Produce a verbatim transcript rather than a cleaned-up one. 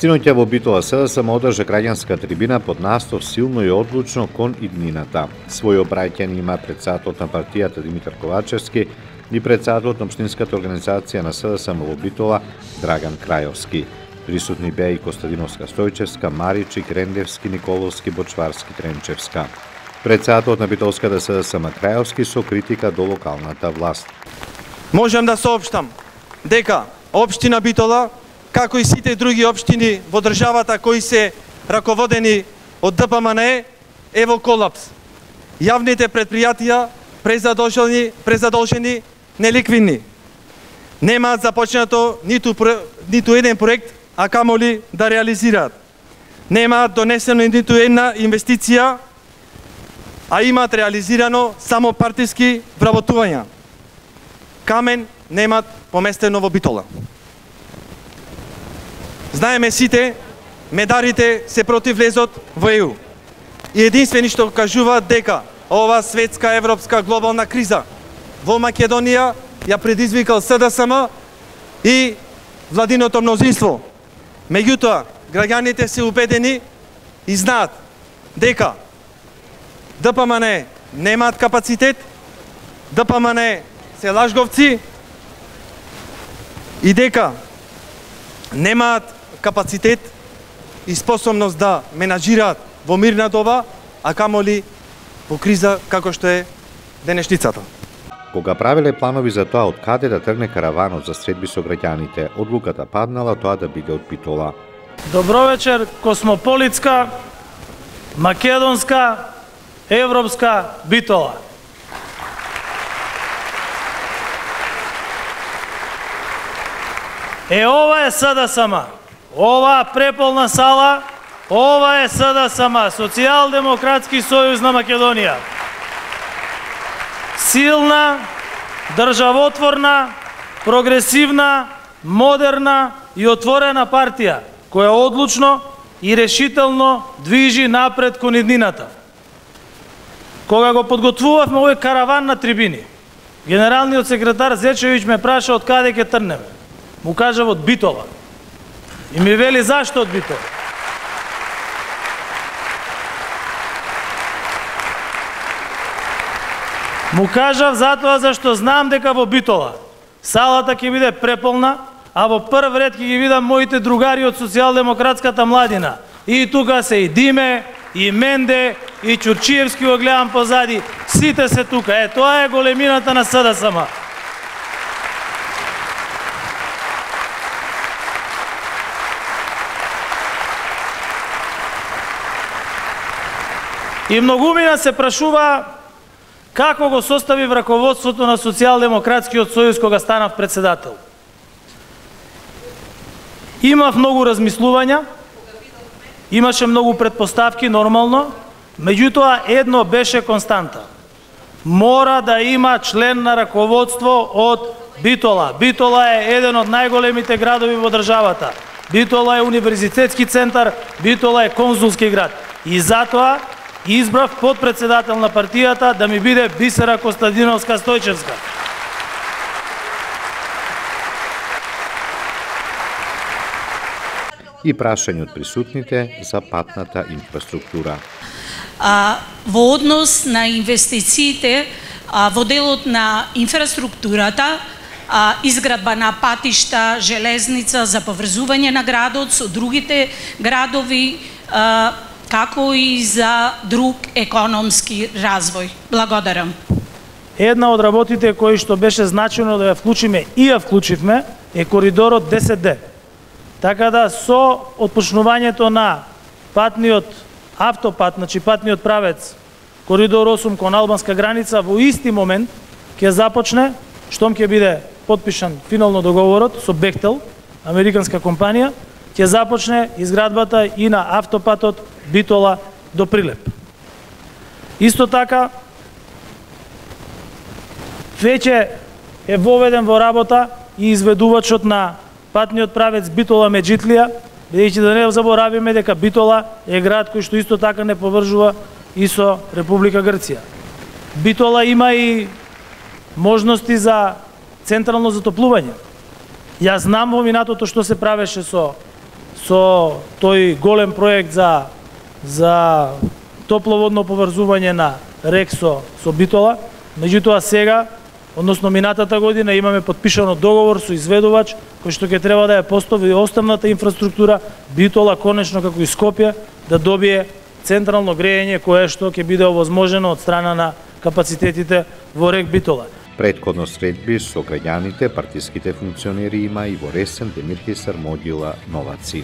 Синоќа во Битола СДСМ одржа граѓанска трибина под наслов "Силно и одлучно кон иднината". Свој обраќање има председателот на партијата Димитар Ковачевски и председателот на општинската организација на СДСМ во Битола Драган Крајовски. Присутни беа и Костадиновска Стојчевска, Маричик, Рендевски, Николовски, Бочварски, Тренчевска. Председателот на Битолската СДСМ Крајовски со критика до локалната власт. Можам да соопштам дека општина Битола, како и сите други општини во државата кои се раководени од Д П М Н Е, е во колапс. Јавните предпријатија презадолжени, презадолжени, неликвидни. Немаат започнато ниту, ниту еден проект, а камоли да реализираат. Немаат донесено ниту една инвестиција, а имаат реализирано само партиски вработувања. Камен немаат поместено во Битола. Знаеме сите, медарите се против влезот во Е У. И единствени што кажуваат дека ова светска, европска, глобална криза во Македонија ја предизвикал СДСМ и владиното мнозинство. Меѓутоа, граѓаните се убедени и знаат дека Д П М Н Е немаат капацитет, Д П М Н Е се лажговци и дека немаат капацитет и способност да менаџираат во мирна доба, а камоли во криза како што е денешницата. Кога правеле планови за тоа од каде да тргне караванот за средби со граѓаните, одлуката паднала тоа да биде од Битола. Добро вечер, космополитска, македонска, европска Битола. Е, ова е СДСМ. Ова преполна сала, ова е СДСМ, Социјалдемократски сојуз на Македонија. Силна, државотворна, прогресивна, модерна и отворена партија, која одлучно и решително движи напред кон иднината. Кога го подготвувавме овој караван на трибини, генералниот секретар Зечевиќ ме праша од каде ќе трнеме. Му кажав од Битола. И ми вели зашто од Битола. Му кажав затоа зашто знам дека во Битола салата ќе биде преполна, а во прв ред ќе ги видам моите другари од социјалдемократската младина. И тука се и Диме, и Менде, и Ќурчиевски го гледам позади. Сите се тука. Е, тоа е големината на СДСМ. И многумина се прашува како го состави раководството на Социјалдемократскиот сојуз кога станав председател. Имав многу размислувања, имаше многу предпоставки, нормално, меѓутоа едно беше константа. Мора да има член на раководство од Битола. Битола е еден од најголемите градови во државата. Битола е универзитетски центар, Битола е конзулски град. И затоа избрав подпредседател на партијата да ми биде Бисера Костадиновска Стојчевска. И прашање од присутните за патната инфраструктура. А, во однос на инвестициите а, во делот на инфраструктурата, а, изградба на патишта, железница за поврзување на градот со другите градови, а, како и за друг економски развој. Благодарам. Една од работите кои што беше значено да ја вклучиме и ја вклучивме е коридорот десет Д. Така да со отпочнувањето на патниот автопат, значи патниот правец коридор осум кон албанска граница, во исти момент ќе започне, штом ќе биде потпишан финално договорот со Бехтел, американска компанија, ќе започне изградбата и на автопатот Битола до Прилеп. Исто така, веќе е воведен во работа и изведувачот на патниот правец Битола Меджитлија, бидејќи да не заборавиме дека Битола е град кој што исто така не поврзува и со Република Грција. Битола има и можности за централно затоплување. Јас знам во минатото што се правеше со со тој голем проект за за топловодно поврзување на Рексо со Битола. Меѓутоа сега, односно минатата година, имаме подпишано договор со изведувач кој што ќе треба да ја постави основната инфраструктура Битола конечно како и Скопје да добие централно грејење кое што ќе биде овозможено од страна на капацитетите во РЕК Битола. Предходно средби со граѓаните, партиските функционери има и во Ресен, Демирхисар, Могила, Новаци.